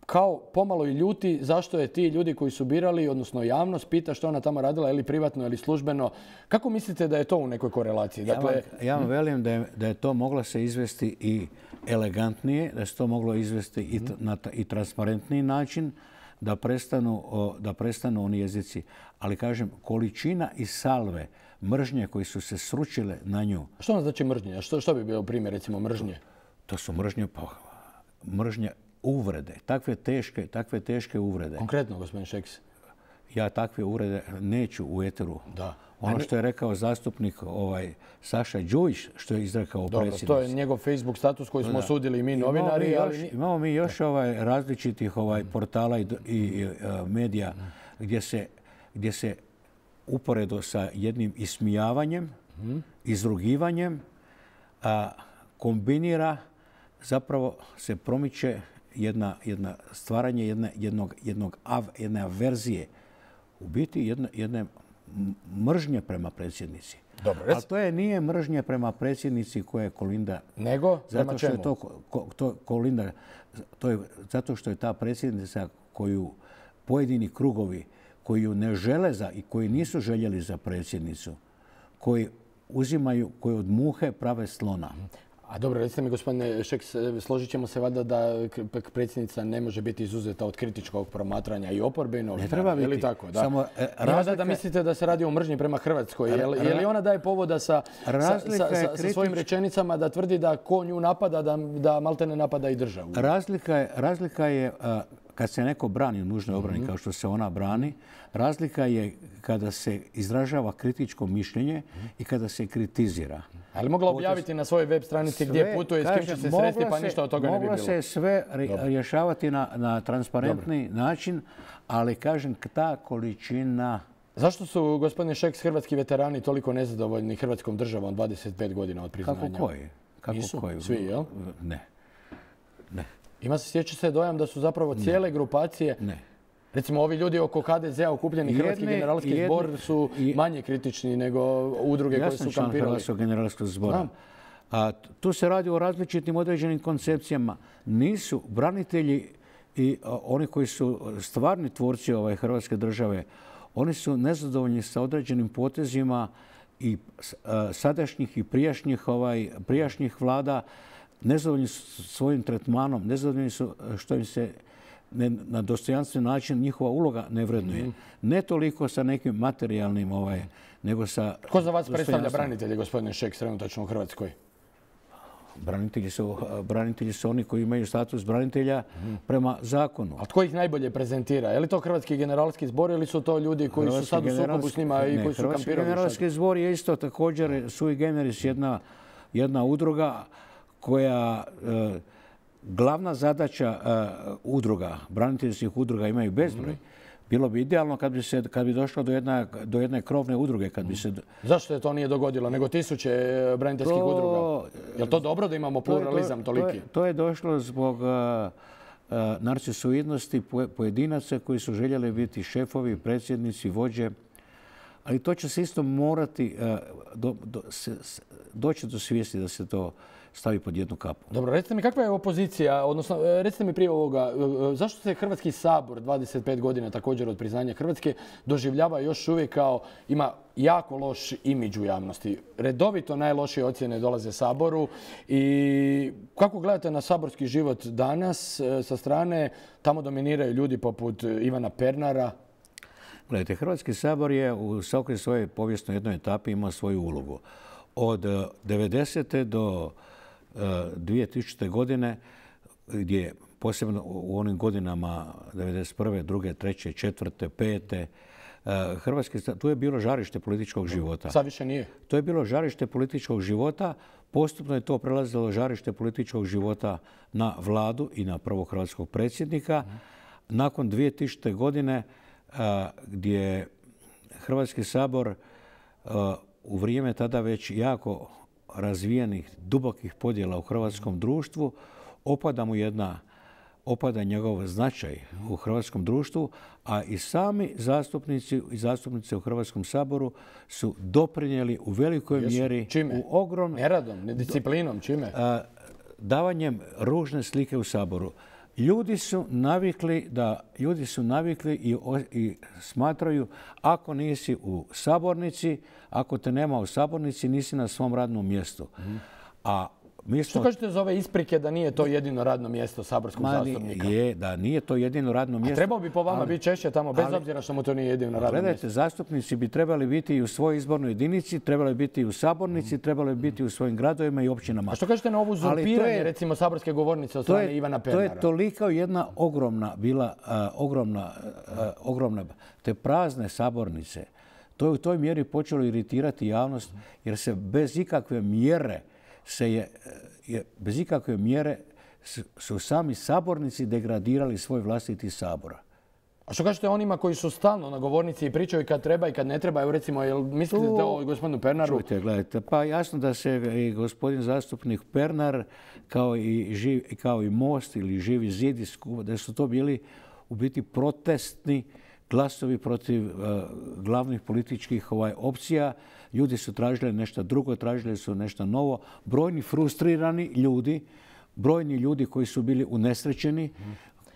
kao pomalo i ljuti zašto je ti ljudi koji su birali, odnosno javnost, pita što ona tamo radila, ili privatno ili službeno. Kako mislite da je to u nekoj korelaciji? Dakle, ja vam, ja vam velim da je, da je to moglo se izvesti i elegantnije, da se to moglo izvesti i, na i transparentniji način, da prestanu, da prestanu oni jezici. Ali kažem, količina i salve mržnje koji su se sručile na nju. Što ono znači mržnje? Što, što bi bio primjer, recimo, mržnje? To su mržnje, pa, mržnje uvrede. Takve teške, takve teške uvrede. Konkretno, gospodin Šeks? Ja takve uvrede neću u eteru. Da. Ono što je rekao zastupnik ovaj, Saša Đujić, što je izrekao predsjednici. Dobro, to je njegov Facebook status koji smo osudili i mi novinari. Imamo mi još, ali... imamo mi još ovaj, različitih ovaj, portala i, i, i uh, medija gdje se, gdje se uporedo sa jednim ismijavanjem, mm. izrugivanjem, a, kombinira, zapravo se promiče jedna, jedna stvaranje jedne, jednog, jednog av, jedne averzije, u biti jedne, jedne mržnje prema predsjednici. Dobro, ali to je, nije mržnje prema predsjednici koja je Kolinda. Nego? Prema zato što čemu? je to, ko, to Kolinda, to je zato što je ta predsjednica koju pojedini krugovi koji ju ne žele za i koji nisu željeli za predsjednicu, koji uzimaju, koji od muhe prave slona. A dobro, recite mi, gospodine Šeks, složit ćemo se valjda da predsjednica ne može biti izuzeta od kritičkog promatranja i oporbe i novinara. Ne treba biti. Je li tako? Da. Samo, e, razlika... da mislite da se radi o mržnji prema Hrvatskoj. Je li, je li ona daje povoda sa, sa, sa, sa, sa svojim rečenicama da tvrdi da ko nju napada, da, da malte ne napada i državu? Razlika je, razlika je a, kad se neko brani u nužnoj obrani, mm-hmm. kao što se ona brani, razlika je kada se izražava kritičko mišljenje mm-hmm. i kada se kritizira. Ali mogla objaviti na svojoj web stranici sve, gdje putuje, s kim će se sresti, pa ništa od toga ne bi bilo. Mogla se sve rješavati na, na transparentni Dobre. način, ali kažem, ta količina... Zašto su, gospodine Šeks, hrvatski veterani toliko nezadovoljni hrvatskom državom dvadeset pet godina od priznanja? Kako koji? Kako Nisu koji? Svi, jel? Ne. Ne. Ima se, sjeća se dojam da su zapravo cijele ne. grupacije... Ne. Recimo, ovi ljudi oko H D Z-a okupljeni Hrvatski generalski jedni, zbor su manje kritični nego udruge koje su kampirali. Ja sam član Hrvatskog generalskog zbora. A, tu se radi o različitim određenim koncepcijama. Nisu branitelji i a, oni koji su stvarni tvorci ovaj, Hrvatske države, oni su nezadovoljni sa određenim potezima i a, sadašnjih i prijašnjih, ovaj, prijašnjih vlada, nezadovoljni su svojim tretmanom, nezadovoljni su što im se Ne, na dostojanstven način njihova uloga ne vrednuje. Mm. Ne toliko sa nekim materijalnim, ovaj, nego sa... Ko za vas predstavlja branitelje, gospodine Šeks, trenutačno u Hrvatskoj? Branitelji su, branitelji su oni koji imaju status branitelja mm. prema zakonu. A tko ih najbolje prezentira? Je li to Hrvatski generalski zbor ili su to ljudi koji Hrvatski su sad u sukobu s njima i ne, koji su kampirali? Hrvatski generalski zbor je isto također sui generis jedna, jedna udruga koja... E, glavna zadaća uh, udruga, braniteljskih udruga imaju bezbroj. Bilo bi idealno kad bi, se, kad bi došlo do, jedna, do jedne krovne udruge. Kad bi se... Zašto je to nije dogodilo? Nego tisuće braniteljskih to, udruga. Je li to dobro da imamo pluralizam to, to, toliki? To je, to je došlo zbog uh, uh, narcisoidnosti pojedinaca koji su željeli biti šefovi, predsjednici, vođe. Ali to će se isto morati uh, do, do, se, doći do svijesti da se to stavi pod jednu kapu. Dobro, recite mi kakva je opozicija, odnosno recite mi prije ovoga, zašto se Hrvatski sabor dvadeset pet godina također od priznanja Hrvatske doživljava još uvijek kao ima jako loš imidž u javnosti. Redovito najlošije ocjene dolaze Saboru i kako gledate na saborski život danas sa strane, tamo dominiraju ljudi poput Ivana Pernara? Gledajte, Hrvatski sabor je u svakoj svojoj povijesnoj jednoj etapi imao svoju ulogu. Od devedesete do dvije tisućite. godine, gdje posebno u onim godinama devedeset prve, druge, treće, četvrte, pete, Hrvatski, tu je bilo žarište političkog života. Sad više nije. To je bilo žarište političkog života. Postupno je to prelazilo žarište političkog života na vladu i na prvog hrvatskog predsjednika. Nakon dvije tisućite. godine, gdje Hrvatski sabor u vrijeme tada već jako razvijenih, dubokih podjela u hrvatskom društvu, opada mu jedna, opada njegov značaj u hrvatskom društvu, a i sami zastupnici i zastupnice u Hrvatskom saboru su doprinijeli u velikoj Jesu. mjeri... Čime? U ogrom... Neradom, nedisciplinom, čime? A, davanjem ružne slike u Saboru. Ljudi su navikli da ljudi su navikli i, i smatraju ako nisi u sabornici, ako te nema u sabornici, nisi na svom radnom mjestu. Mm. A mi smo... Što kažete za ove isprike da nije to jedino radno mjesto saborskog Ma, zastupnika? Je, da nije to jedino radno mjesto. A trebao bi po vama ali, biti češće tamo, bez ali, obzira što mu to nije jedino radno gledajte, mjesto. Gledajte, zastupnici bi trebali biti i u svojoj izbornoj jedinici, trebali biti i u sabornici, mm. trebali biti u svojim gradovima i općinama. A što kažete na ovu uzurpiranje, je, recimo, saborske govornice od strane je, Ivana Pernara? To je toliko jedna ogromna, bila uh, ogromna, uh, ogromna, te prazne sabornice. To je u toj mjeri počelo iritirati javnost, jer se bez ikakve mjere se je, je bez ikakve mjere su, su sami sabornici degradirali svoj vlastiti sabor. A što kažete onima koji su stalno na govornici i pričaju kad treba i kad ne treba? Evo recimo, jel mislite da ovo gospodinu Pernaru? Čujte, gledajte, pa jasno da se i gospodin zastupnik Pernar kao i, živ, kao i Most ili Živi zid, da su to bili u biti protestni glasovi protiv uh, glavnih političkih ovaj, opcija. Ljudi su tražili nešto drugo, tražili su nešto novo. Brojni frustrirani ljudi, brojni ljudi koji su bili unesrećeni,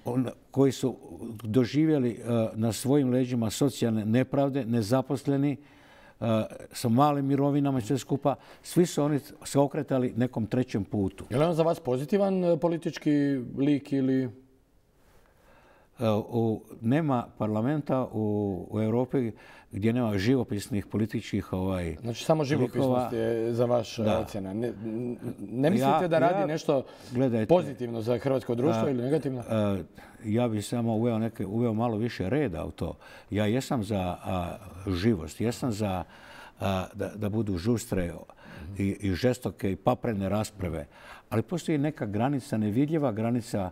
on, koji su doživjeli uh, na svojim leđima socijalne nepravde, nezaposleni, uh, sa malim mirovinama i sve skupa, svi su oni se okretali nekom trećem putu. Je li on za vas pozitivan politički lik ili... U, nema parlamenta u, u Europi gdje nema živopisnih političkih ovaj, Znači samo živopisnost je za vaš ocjena. Ne, ne mislite ja, da radi ja, nešto gledajte, pozitivno za hrvatsko društvo a, ili negativno? A, ja bih samo uveo, neke, uveo malo više reda u to. Ja jesam za a, živost, jesam za a, da, da budu žustre i, i žestoke i paprene rasprave, ali postoji neka granica, nevidljiva granica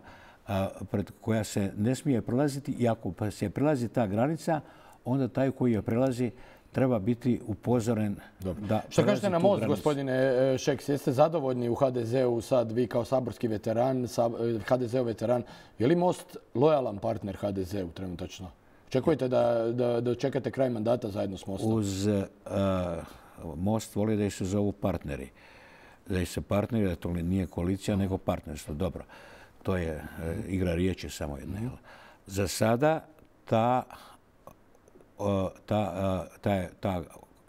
pred koja se ne smije prelaziti i ako se prelazi ta granica, onda taj koji je prelazi treba biti upozoren Dobro. da Što kažete na most, granicu. Gospodine Šeks, jeste zadovoljni u ha de zeu sad vi kao saborski veteran, ha de zeo veteran, je li Most lojalan partner ha de zeu trenutačno? Očekujete da, da, da čekate kraj mandata zajedno s Mostom? Uz uh, Most voli da ih se zovu partneri. Da ih se partneri, da to nije koalicija, nego partnerstvo. Dobro. To je e, igra riječi samo jedna. Mm. Za sada ta, o, ta, ta, ta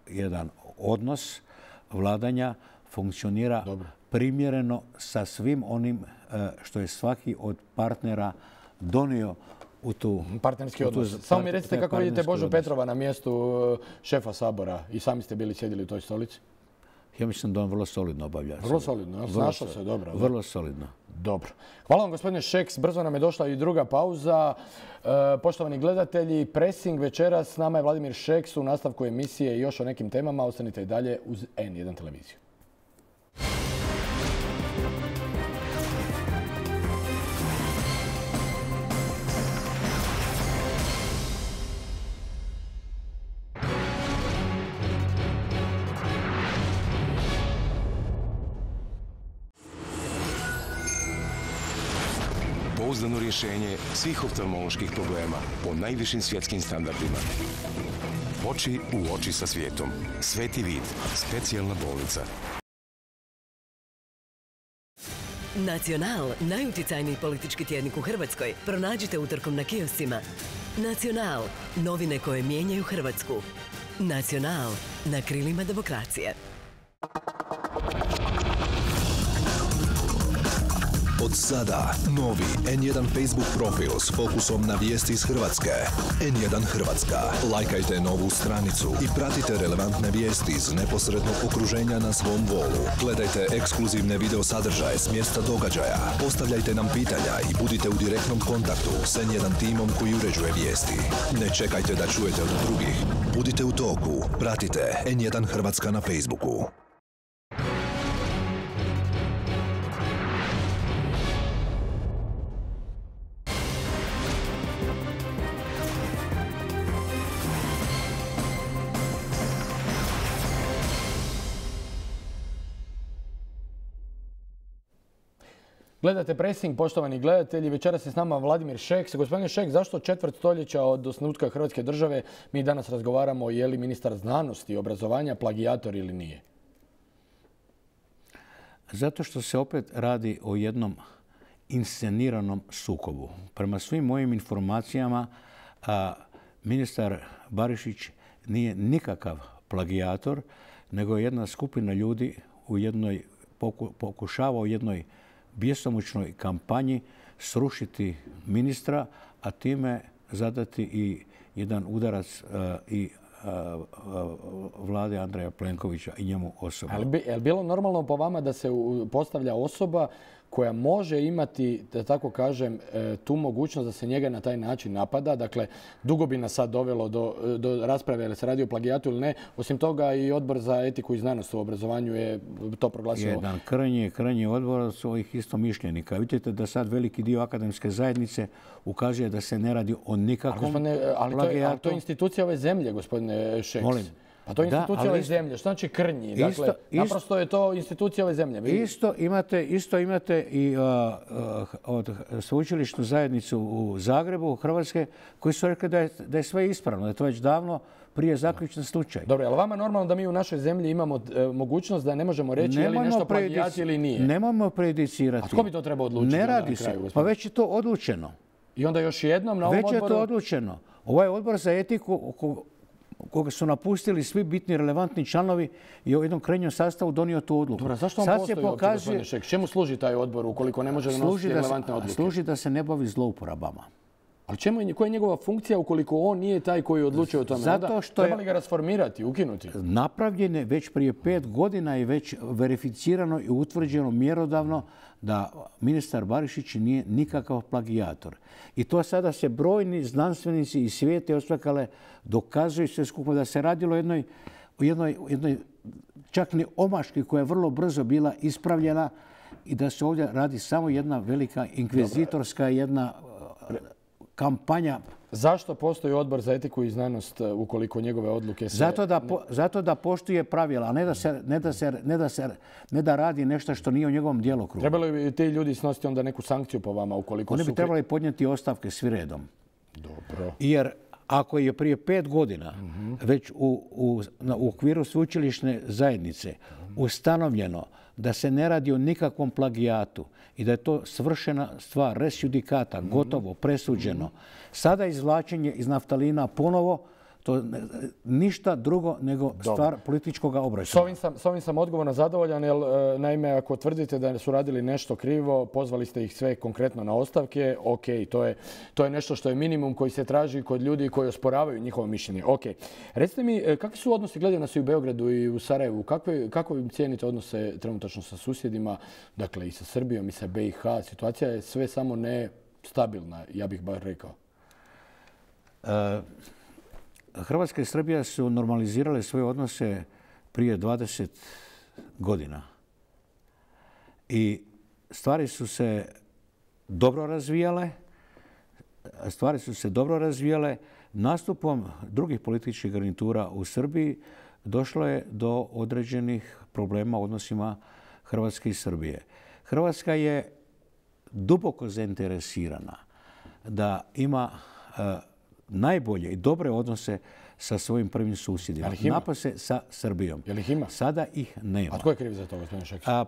jedan odnos vladanja funkcionira Dobro. primjereno sa svim onim e, što je svaki od partnera donio u tu... Partnerski odnos. Samo mi recite kako vidite Božu odnos. Petrova na mjestu šefa Sabora i sami ste bili sjedili u toj stolici. Ja mislim da on vrlo solidno obavlja. Vrlo solidno, snašao se dobro. Vrlo solidno. Dobro. Hvala vam gospodine Šeks, brzo nam je došla i druga pauza. E, poštovani gledatelji, Pressing večeras, s nama je Vladimir Šeks u nastavku emisije i još o nekim temama. Ostanite i dalje uz en jedan televiziju. Pouzdano rješenje svih oftalmoloških problema po najvišim svjetskim standardima. Oči u oči sa svijetom. Sveti vid. Specijalna bolnica. Nacional, najuticajniji politički tjednik u Hrvatskoj, pronađite utorkom na kioscima. Nacional, novine koje mijenjaju Hrvatsku. Nacional, na krilima demokracije. Od sada novi en jedan Facebook profil s fokusom na vijesti iz Hrvatske. en jedan Hrvatska. Lajkajte novu stranicu i pratite relevantne vijesti iz neposrednog okruženja na svom wolu. Gledajte ekskluzivne video sadržaje s mjesta događaja. Postavljajte nam pitanja i budite u direktnom kontaktu s en jedan timom koji uređuje vijesti. Ne čekajte da čujete od drugih. Budite u toku. Pratite en jedan Hrvatska na Facebooku. Gledate Pressing, poštovani gledatelji. Večeras je s nama Vladimir Šeks. Gospodine Šeks, zašto četvrt stoljeća od osnutka Hrvatske države mi danas razgovaramo je li ministar znanosti i obrazovanja plagijator ili nije? Zato što se opet radi o jednom insceniranom sukobu. Prema svim mojim informacijama, a, ministar Barišić nije nikakav plagijator, nego je jedna skupina ljudi u jednoj, poku, pokušava u jednoj bjesomučnoj kampanji srušiti ministra, a time zadati i jedan udarac uh, i uh, uh, vlade Andreja Plenkovića i njemu osobno. Ali bi, je li bilo normalno po vama da se postavlja osoba koja može imati, da tako kažem, tu mogućnost da se njega na taj način napada? Dakle, dugo bi nas sad dovelo do, do rasprave ili se radi o plagijatu ili ne. Osim toga i Odbor za etiku i znanost u obrazovanju je to proglasio. Jedan krajnji, krajnji odbor svojih istomišljenika. Vidite da sad veliki dio akademske zajednice ukazuje da se ne radi o nikakvom ali, ali plagijatu. To je, ali to je institucija ove zemlje, gospodine Šeks. Molim. Pa to je institucija da, ove zemlje. Što znači krnji? Isto, dakle, isto, naprosto je to institucija ove zemlje. Vi... Isto imate, isto imate i uh, uh, od sveučilišnu zajednicu u Zagrebu, Hrvatske, koji su rekli da je, da je sve ispravno, da je to već davno prije zaključen slučaj. Dobro, ali vama normalno da mi u našoj zemlji imamo e, mogućnost da ne možemo reći je li nešto plagijat ili nije? Nemojmo prejudicirati. A tko bi to trebao odlučiti? Ne radi se. Pa već je to odlučeno. I onda još jednom na ovom već odboru? Već je to odlučeno. Ovaj odbor za etiku koga su napustili svi bitni relevantni članovi i u jednom krajnjem sastavu donio tu odluku. Dobro, zašto on Sad postoji se uopće, pokazuje, gospodine Šeks? Čemu služi taj odbor ukoliko ne može donositi služi da, relevantne se, odluke? služi da se ne bavi zlouporabama. Ali čemu je, koja je njegova funkcija ukoliko on nije taj koji odlučuje o tome? Zato Onda što je- treba li ga rasformirati, ukinuti? Napravljen je već prije pet godina i već verificirano i utvrđeno mjerodavno da ministar Barišić nije nikakav plagijator. I to sada se brojni znanstvenici iz svijeta i osvakale dokazuju sve skupo da se radilo o jednoj, o jednoj, o jednoj čak ni omaški koja je vrlo brzo bila ispravljena i da se ovdje radi samo jedna velika inkvizitorska jedna uh, kampanja. Zašto postoji odbor za etiku i znanost ukoliko njegove odluke se... Zato da, po, zato da poštuje pravila, a ne da, se, ne, da se, ne, da se, ne da radi nešto što nije u njegovom djelokrugu. Trebali bi ti ljudi snositi onda neku sankciju po vama ukoliko Oni su... bi trebali podnijeti ostavke svi redom. Dobro. Jer ako je prije pet godina već u, u, na, u okviru sveučilišne zajednice ustanovljeno da se ne radi o nikakvom plagijatu i da je to svršena stvar, res judicata, gotovo, presuđeno. Sada izvlačenje iz naftalina ponovo, to ništa drugo nego stvar političkog S obračuna. ovim sam, s ovim sam odgovorno zadovoljan, jer e, naime, ako tvrdite da su radili nešto krivo, pozvali ste ih sve konkretno na ostavke, ok, to je, to je nešto što je minimum koji se traži kod ljudi koji osporavaju njihovo mišljenje. Ok. Recite mi, e, kakvi su odnosi, gledaju nas i u Beogradu i u Sarajevu, kakve, kako vi cijenite odnose trenutačno sa susjedima, dakle i sa Srbijom i sa B i H? Situacija je sve samo ne stabilna, ja bih bar rekao. E, Hrvatska i Srbija su normalizirale svoje odnose prije dvadeset godina. I stvari su se dobro razvijale. Stvari su se dobro razvijale. Nastupom drugih političkih garnitura u Srbiji došlo je do određenih problema u odnosima Hrvatske i Srbije. Hrvatska je duboko zainteresirana da ima uh, najbolje i dobre odnose sa svojim prvim susjedima. Napose sa Srbijom. Je li ih ima? Sada ih nema. A tko je kriv za to, gospodine Šeks? A,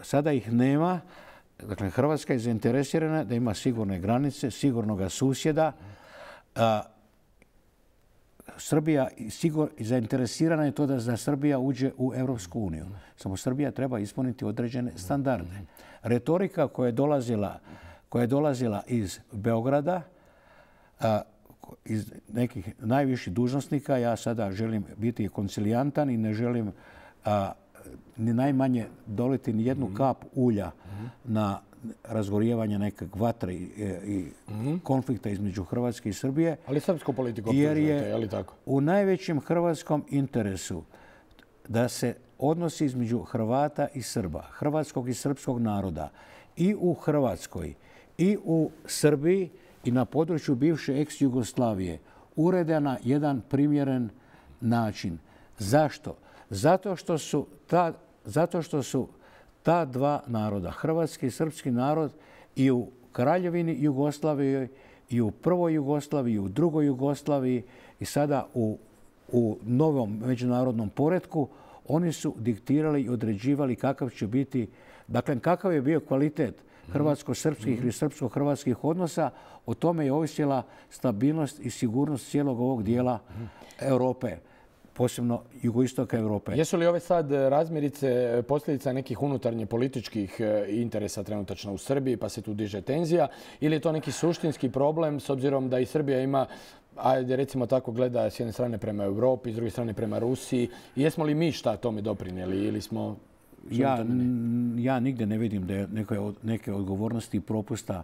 sada ih nema. Dakle, Hrvatska je zainteresirana da ima sigurne granice, sigurnog susjeda. A, Srbija sigur, zainteresirana je to da, da Srbija uđe u Europsku uniju. Samo Srbija treba ispuniti određene standarde. Retorika koja je dolazila, koja je dolazila iz Beograda, a, iz nekih najviših dužnosnika, ja sada želim biti koncilijantan i ne želim a, ni najmanje doliti ni jednu kap ulja na razgorijevanje nekog vatre i, i konflikta između Hrvatske i Srbije. Ali srpsku politiku jer je, je li tako? U najvećem hrvatskom interesu da se odnosi između Hrvata i Srba, hrvatskog i srpskog naroda i u Hrvatskoj i u Srbiji i na području bivše ex-Jugoslavije urede na jedan primjeren način. Zašto? Zato što su ta, zato što su ta dva naroda, hrvatski i srpski narod, i u Kraljevini Jugoslaviji, i u prvoj Jugoslaviji, i u drugoj Jugoslaviji i sada u, u novom međunarodnom poretku, oni su diktirali i određivali kakav će biti, dakle kakav je bio kvalitet hrvatsko-srpskih ili srpsko-hrvatskih odnosa, o tome je ovisila stabilnost i sigurnost cijelog ovog dijela Europe, posebno jugoistoka Europe. Jesu li ove sad razmirice posljedica nekih unutarnje političkih interesa trenutačno u Srbiji, pa se tu diže tenzija, ili je to neki suštinski problem s obzirom da i Srbija ima, ajde recimo tako, gleda s jedne strane prema Europi, s druge strane prema Rusiji? I jesmo li mi šta tome doprinijeli ili smo... Ja, ja nigdje ne vidim da je neke, neke odgovornosti i propusta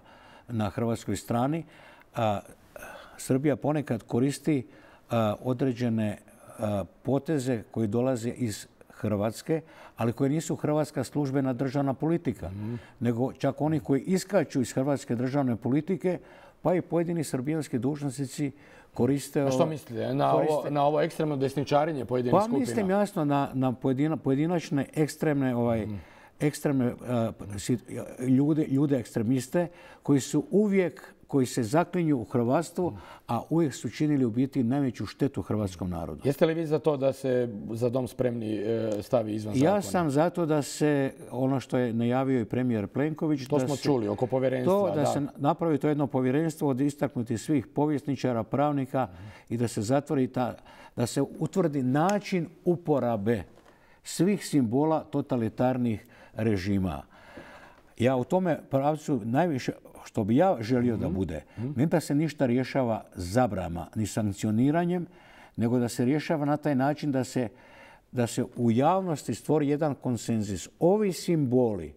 na hrvatskoj strani. A, Srbija ponekad koristi a, određene a, poteze koji dolaze iz Hrvatske, ali koje nisu hrvatska službena državna politika, mm. nego čak oni koji iskaču iz hrvatske državne politike, pa i pojedini srbijanski dužnosnici koriste... A što mislite? Na, koriste, ovo, na ovo ekstremno desničarenje pojedinih pa, skupina? Pa mislim jasno na, na pojedina, pojedinačne ekstremne, ovaj, mm. ekstremne uh, ljude, ljude ekstremiste koji su uvijek koji se zaklinju u hrvatstvo, a uvijek su činili u biti najveću štetu hrvatskom narodu. Jeste li vi za to da se Za dom spremni stavi izvan zakona? Ja sam za to da se, ono što je najavio i premijer Plenković... To smo čuli oko povjerenstva. To da se napravi to jedno povjerenstvo od istaknutih svih povjesničara, pravnika i da se zatvori ta, da se utvrdi način uporabe svih simbola totalitarnih režima. Ja u tome pravcu najviše, što bi ja želio da bude, ne da se ništa rješava zabranama ni sankcioniranjem, nego da se rješava na taj način da se, da se u javnosti stvori jedan konsenzus. Ovi simboli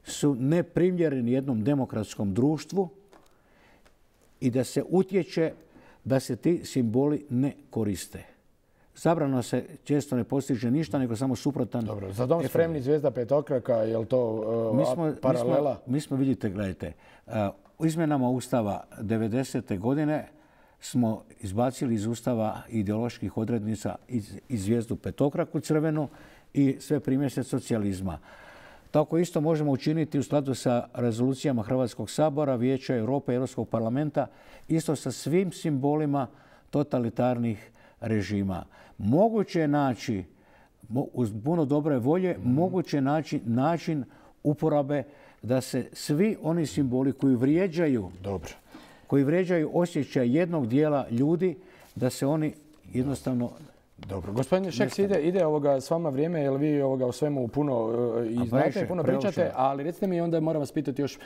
su neprimjereni jednom demokratskom društvu i da se utječe da se ti simboli ne koriste. Zabrano se često ne postiže ništa, nego samo suprotan. Dobro, Za dom spremni zvijezda petokraka, je li to uh, mi smo, paralela? Mi smo, mi smo, vidite, gledajte, uh, u izmjenama Ustava devedesete godine smo izbacili iz Ustava ideoloških odrednica iz, iz zvijezdu petokraku crvenu i sve primjese socijalizma. Tako isto možemo učiniti u skladu sa rezolucijama Hrvatskog sabora, Vijeća Europe, Europskog parlamenta, isto sa svim simbolima totalitarnih režima. Moguće je naći, uz puno dobre volje, mm. moguće je naći način uporabe da se svi oni simboli koji vrijeđaju, Dobro. koji vrijeđaju osjećaj jednog dijela ljudi, da se oni jednostavno... Dobro. Gospodine Šeks, ide, ide ovoga s vama vrijeme, jer vi ovoga o svemu puno uh, i znate, puno pričate, ali recite mi, onda moram vas pitati još,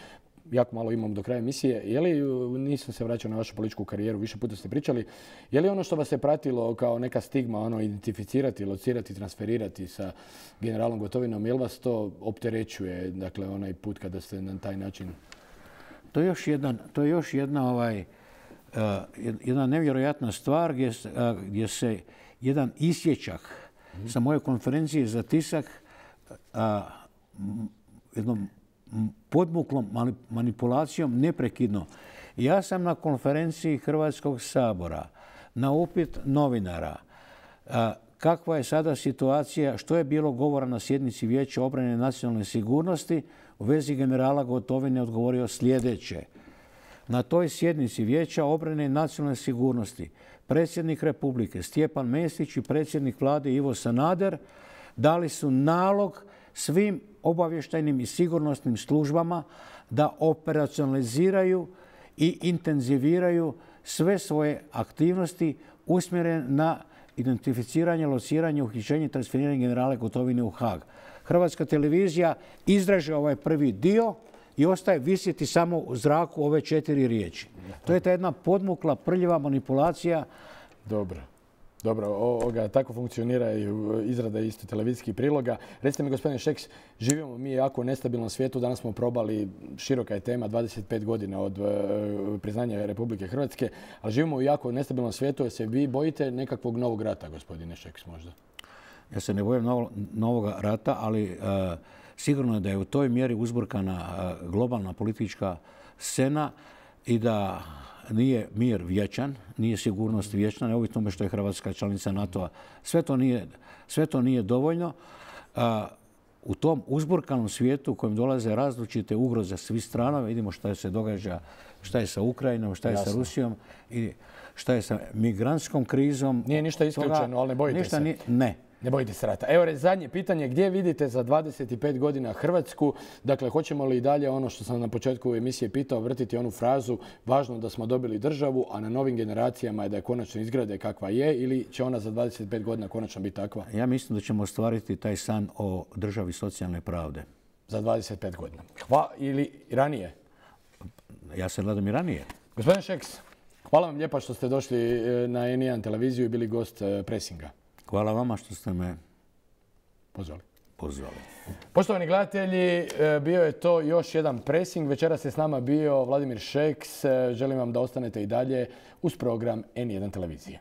jako malo imam do kraja emisije, je li, nisam se vraćao na vašu političku karijeru, više puta ste pričali, je li ono što vas je pratilo kao neka stigma, ono, identificirati, locirati, transferirati sa generalom Gotovinom, je li vas to opterećuje, dakle, onaj put kada ste na taj način... To je još, jedan, to je još jedna, ovaj, uh, jedna nevjerojatna stvar gdje, uh, gdje se jedan isječak mm. sa moje konferencije za tisak uh, jednom podmuklom manipulacijom neprekidno. Ja sam na konferenciji Hrvatskog sabora na upit novinara a, kakva je sada situacija, što je bilo govora na sjednici Vijeća obrane i nacionalne sigurnosti, u vezi generala Gotovine odgovorio sljedeće. Na toj sjednici Vijeća obrane i nacionalne sigurnosti predsjednik Republike Stjepan Mesić i predsjednik vlade Ivo Sanader dali su nalog svim obavještajnim i sigurnosnim službama da operacionaliziraju i intenziviraju sve svoje aktivnosti usmjerene na identificiranje, lociranje, uhićenje i transferiranje generala Gotovine u Haag. Hrvatska televizija izraže ovaj prvi dio i ostaje visjeti samo u zraku ove četiri riječi. To je ta jedna podmukla, prljiva manipulacija. Dobro. Dobro, ovoga, tako funkcionira i izrada isto televizijskih priloga. Recite mi, gospodine Šeks, živimo mi jako u nestabilnom svijetu. Danas smo probali, široka je tema, dvadeset pet godina od uh, priznanja Republike Hrvatske, ali živimo u jako nestabilnom svijetu. Jer se vi bojite nekakvog novog rata, gospodine Šeks, možda? Ja se ne bojim novo, novog rata, ali uh, sigurno je da je u toj mjeri uzburkana uh, globalna politička scena i da nije mir vječan, nije sigurnost vječna, neovisno tome što je Hrvatska članica NATO-a. Sve to nije, sve to nije dovoljno. A, u tom uzburkanom svijetu u kojem dolaze različite ugroze svih strana, vidimo šta se događa, šta je sa Ukrajinom, šta je Jasno. sa Rusijom i šta je sa migrantskom krizom. Nije ništa isključeno, ali ne bojite ništa se. Ni, ne. Ne bojite se rata. Evo, zadnje pitanje. Gdje vidite za dvadeset pet godina Hrvatsku? Dakle, hoćemo li i dalje ono što sam na početku emisije pitao, vrtiti onu frazu važno da smo dobili državu, a na novim generacijama je da je konačno izgrade kakva je, ili će ona za dvadeset pet godina konačno biti takva? Ja mislim da ćemo ostvariti taj san o državi socijalne pravde. Za dvadeset pet godina. Hva, ili ranije? Ja se gledam i ranije. Gospodin Šeks, hvala vam lijepa što ste došli na N jedan televiziju i bili gost Presinga. Hvala vama što ste me pozvali. pozvali. Poštovani gledatelji, bio je to još jedan Presing. Večeras je s nama bio Vladimir Šeks. Želim vam da ostanete i dalje uz program N jedan televizije.